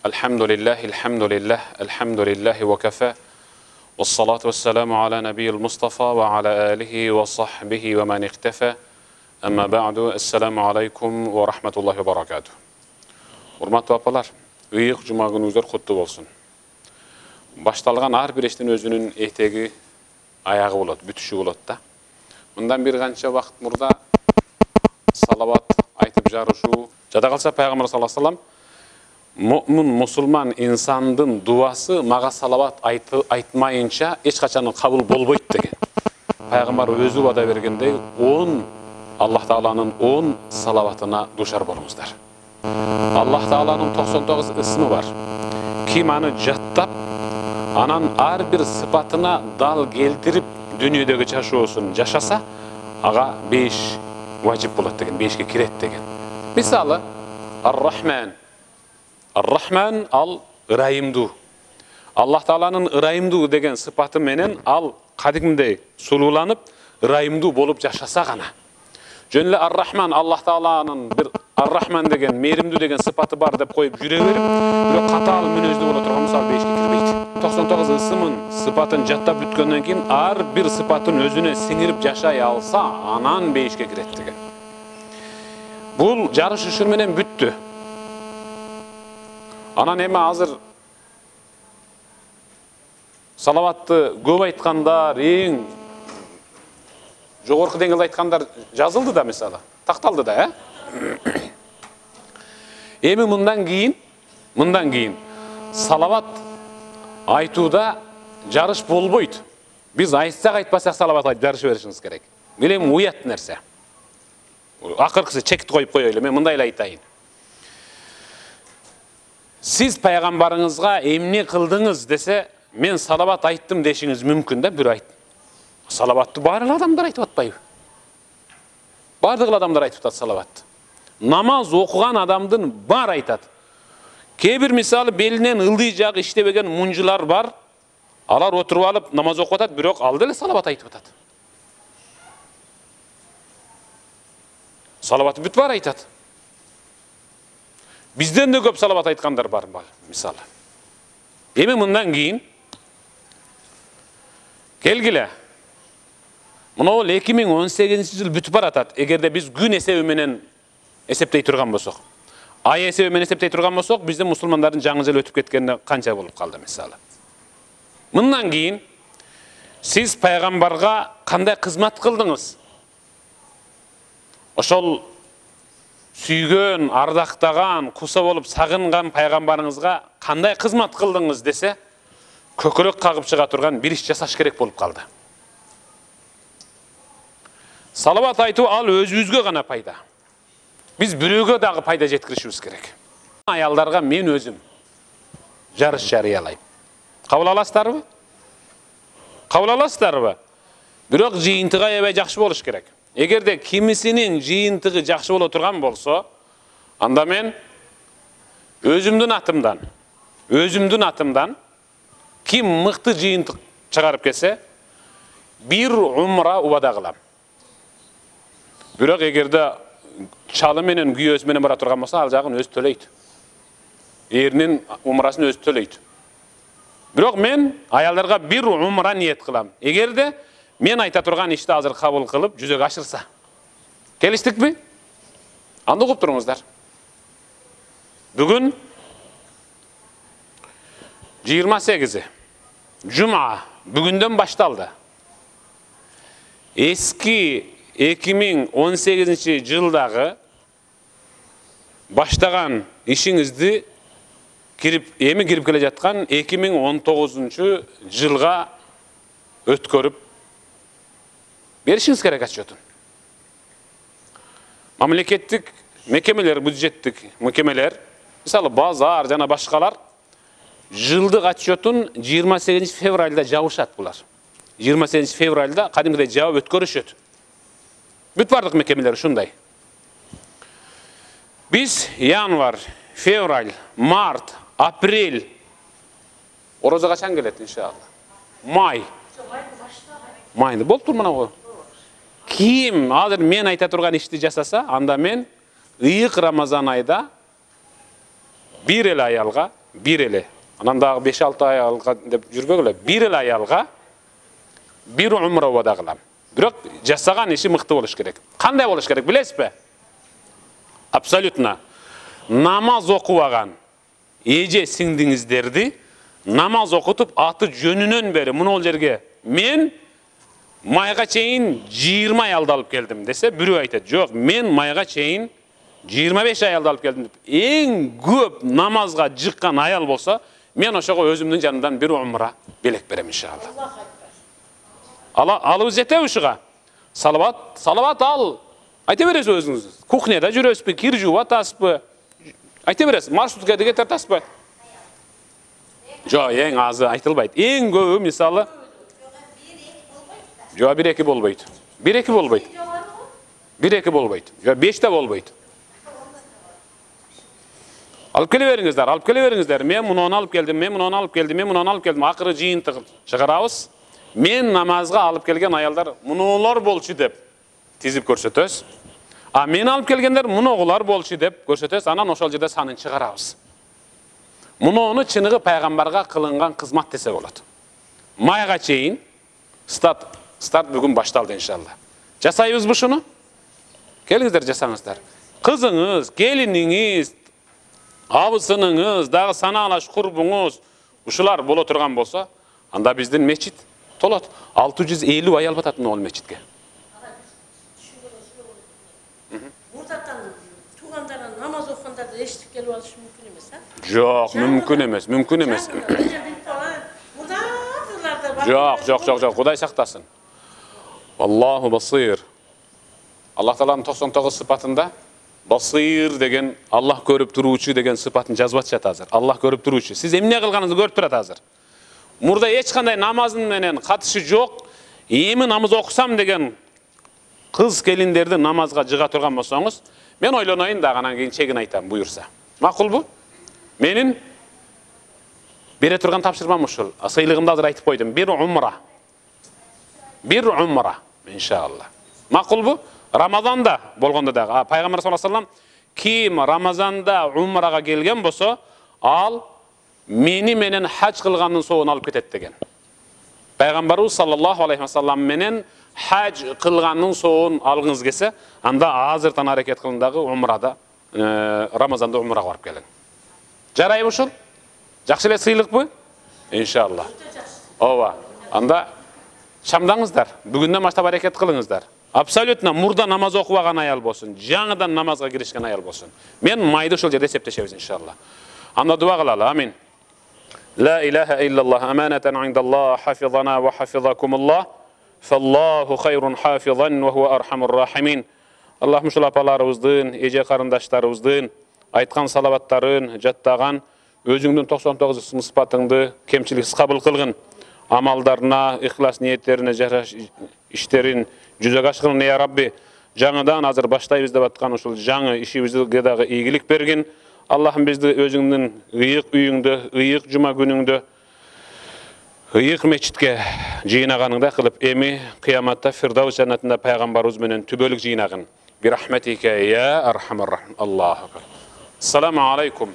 Alhamdulillah, wa kafa. Wassalatu wassalamu ala nabiyil Mustafa wa ala alihi wa sahbihi wa man ikhtafa. Amma ba'du, assalamu alaikum wa rahmatullahi wa barakatuh. Урматтуу апалар, ыйык жума күнүңүздөр куттуу болсун. Башталган ар бир иштин өзүнүн этеги, аягы болот, бүтүшү болот да. Мындан бир канча вакыт мурда салават айтып жарышуу, жада калса пайгамбар саллаллаху алейхи вассалам мусулман инсандын дуасы мага салават айтмайынча эч качан кабыл болбойт деген. Пайгамбар өзү вада бергендей 10 Аллах Тааланын 10 салаватына душар болуңуздар. Аллах Тааланын 99 ысмы бар. Ким аны жаттап, анан ар бир сыпатына дал келтирип дүйнөдөгү жашоосун жашаса, ага 5 важип болот деген, 5ке кирет деген. Мисалы, Ар-Рахман ал ырайымдуу. Аллах Тааланын ырайымдуу деген сыпаты менен ал кадимдей сулууланып, ырайымдуу болуп жашаса гана. Жөн эле Ар-Рахман Аллах Тааланын бир Ар-Рахман деген мээримдүү деген сыпаты бар деп коюп жүрө берип, бирок катаал мүнөздүү боло турган мисалы 5ке кирбейт. 99 ысымын, сыпатын жаттап бүткөндөн кийин ар бир сыпатын өзүнө сиңирип жашай алса, анан 5ке кирет деген. Бул жарыш ушун менен бүттү. Анан эми азыр салаватты көп айткандар, эң жогорку деңгээлде айткандар жазылды да мисалы, такталды да, Эми мындан кийин салават айтууда жарыш болбойт. Биз айтсак айтпасак салават айтып жарыша беришиңиз керек. Билем уят нерсе. Акыркысы чекти коюп коелу, мен мындай эле айтайын. Сиз пайгамбарыңызга эмне кылдыңыз десе, мен салават айттым дешиңиз мүмкүн да, бир айт. Салаватты барлык адамдар айтып атпайбы? Бардык адамдар айтып атат салаватты. Намаз окуган адамдын бар айтат. Кээ бир мисалы белинен ылдый жагы иштебеген мунжулар бар. Алар отуруп алып намаз окуп атат, бирок ал деле салават айтып атат. Салаватты бүт бар айтат. Бизден да көп салават айткандар бар мисалы. Эми мындан кийин келгиле. Мына 2018 жыл бүтүп баратат. Эгерде биз күн эсеби менен эсептей турган болсок, ай эсеби менен эсептей турган болсок, биздин мусулмандардын жаңы жыл өтүп кеткенине канча болуп калды мисалы. Мындан кийин сиз пайгамбарга кандай кызмат кылдыңыз? Ошол сүйгөн, ардактаган, куса болуп сагынган пайгамбарыңызга кандай кызмат кылдыңыз десе, көкөрөк кагып чыга турган бир иш жасаш керек болуп калды. Салават айтуу ал өзүбүзгө гана пайда. Биз бирөөгө дагы пайда жеткиришибиз керек. Аялдарга мен өзүм жарыш жарыялайм. Кабыл аласыздарбы? Кабыл аласыздарбы? Бирок жыйынтыгы аябай жакшы болуш керек. Эгерде кимисинин жыйынтыгы жакшы боло турган болсо, анда мен өзүмдүн атымдан ким мыкты жыйынтык чыгарып келсе, бир умра убада кылам. Бирок эгерде чалы менен күйөөсү менен бара турган болсо, ал жагын өзү төлөйт. Эринин умрасын өзү төлөйт. Бирок мен аялдарга бир умра ниет кылам. Эгерде мен айта турган ишти азыр кабыл кылып, жүзөгө ашырса. Келиштикпи? Анда угуп туруңуздар. Бүгүн 28 Жума бүгүндөн башталды. Эски 2018 жылдагы баштаган ишиңизди эми кирип келе жаткан 2019 жылга өткөрүп беришиңиз керек отчетун. Мамлекеттик мекемелер, бюджеттик мекемелер, мисалы базар жана башкалар жылдык отчетун 28 февралда жабышат булар. 28 февралда кадимгидей жабып өткөрүшөт. Бүт бардык мекемелер ушундай. Биз январь, февраль, март, апрель, орозо качан келет иншалла? Май. Майны болуп тур мына го. Ким азыр мен айта турган ишти жасаса, анда мен ыйык Рамазан айда бир эле аялга бир эле. Анан дагы 5-6 аялга деп жүрбөгүлө. Бир эле аялга бир умра вада кылам. Бирок жасаган иши мыкты болуш керек. Кандай болуш керек билесизби? Абсолютно. Намаз окубаган эже сиңдиңиздерди намаз окутуп аты жөнүнөн бери мына жерге мен майга чейин 20 аялды алып келдим десе, бирөө айтат, жок, мен майга чейин 25 аялды алып келдим деп. Эң көп намазга жыккан аял болсо, мен ошого өзүмдүн жанымдан бир умра белек берем иншалла. Алыбыз жетеби ушуга? Салават ал. Айта бересиз өзүңүз. Кухняда жүрөсүзбү, кир жууп атасызбы? Айта бересиз, маршрутка деге тартасызбы? Жок, эң азы айтылбайт. Эң көбү мисалы жок 1-2 болбойт. 1-2 болбойт. 1-2 болбойт. Жок 5 да болбойт. Алып келе бериңиздер. Мен муну алып келдим, мен муну алып келдим, мен муну алып келдим. Акыры жыйынтык чыгарабыз. Мен намазга алып келген аялдар мунулар болчу деп тизип көрсөтөбүз. А мен алып келгендер мунугулар болчу деп көрсөтөбүз. Анан ошол жерде санын чыгарабыз. Мунуну чыныгы пайгамбарга кылынган кызмат десе болот. Майга чейин старт бүгүн башталды иншалла. Жасайбызбы шуну? Келиңиздер жасаңыздар. Кызыңыз, келиниңиз, абысыныңыз, дагы санаалаш курбуңуз ушулар боло турган болсо, анда биздин мечит толот. 650 аял батат могул мечитке. Мурдатан туугандардан намаз окугандарды эшитип келип алышы мүмкүн эмес, а? Жок, мүмкүн эмес. Жок, Кудай сактасын. Аллаху басир. Аллах Тааланын 99 сыпатында басир деген Аллах көрүп туруучу деген сыпатын жазып атышат азыр. Аллах көрүп туруучу. Сиз эмне кылганыңызды көрүп турат азыр. Мурда эч кандай намазын менен катышы жок. Эми намаз окусам деген кыз келиндерди намазга жыга турган болсоңуз, мен ойлоноюн дагы анан кийин чегин айтам буюрса. Макулбу? Менин бере турган тапшырмам ушул. Сыйлыгымды азыр айтып койдум. Бир умра, иншалла. Макулбу? Рамазанда болгондо дагы пайгамбар саллаллаху алейхи вассалам ким Рамазанда умрага келген болсо, ал мени менен хаж кылгандын соогун алып кетет деген. Пайгамбарыбыз саллаллаху алейхи вассалам менен хаж кылгандын соогун алгыңыз келсе, анда азыртан аракет кылың дагы умрада, Рамазанда умрага барып келиң. Жарайбы ушул? Жакшы эле сыйлыкпы? Иншалла. Ооба. Анда чамдаңыздар. Бүгүндөн баштап аракет кылыңыздар. Абсолютно мурда намаз окубаган аял болсун, жаңыдан намазга киришкен аял болсун. Мен майды ошол жерде эсептешебиз иншалла. Анда дуа кылалы. Амин. لا إله إلا الله أمانة عند الله حفظنا وحفظكم الله فالله خير حافظا وهو أرحم الراحمين. Аллах ушул апаларыбыздын, эже карындаштарыбыздын айткан салаваттарын жаттаган, өзүңдүн 99 сыпатыңды кемчиликсиз кабыл кылгын. Амалдарына, ихлас ниеттерине жараш иштерин жүзөгө ашкыргын я Рабби. Жаңыдан азыр баштайбыз деп аткан ушул жаңы ишибизге дагы ийгилик бергин. Аллахым бизди өзүңдүн ыйык үйүңдө, ыйык жума күнүңдө, ыйык мечитке жыйнаганыңда кылып, эми кыяматта Фирдаус жаннатында пайгамбарыбыз менен түбөлүк жыйнагын. Бирахметике я архамар рахим. Аллаху акбар. Ассаламу алейкум.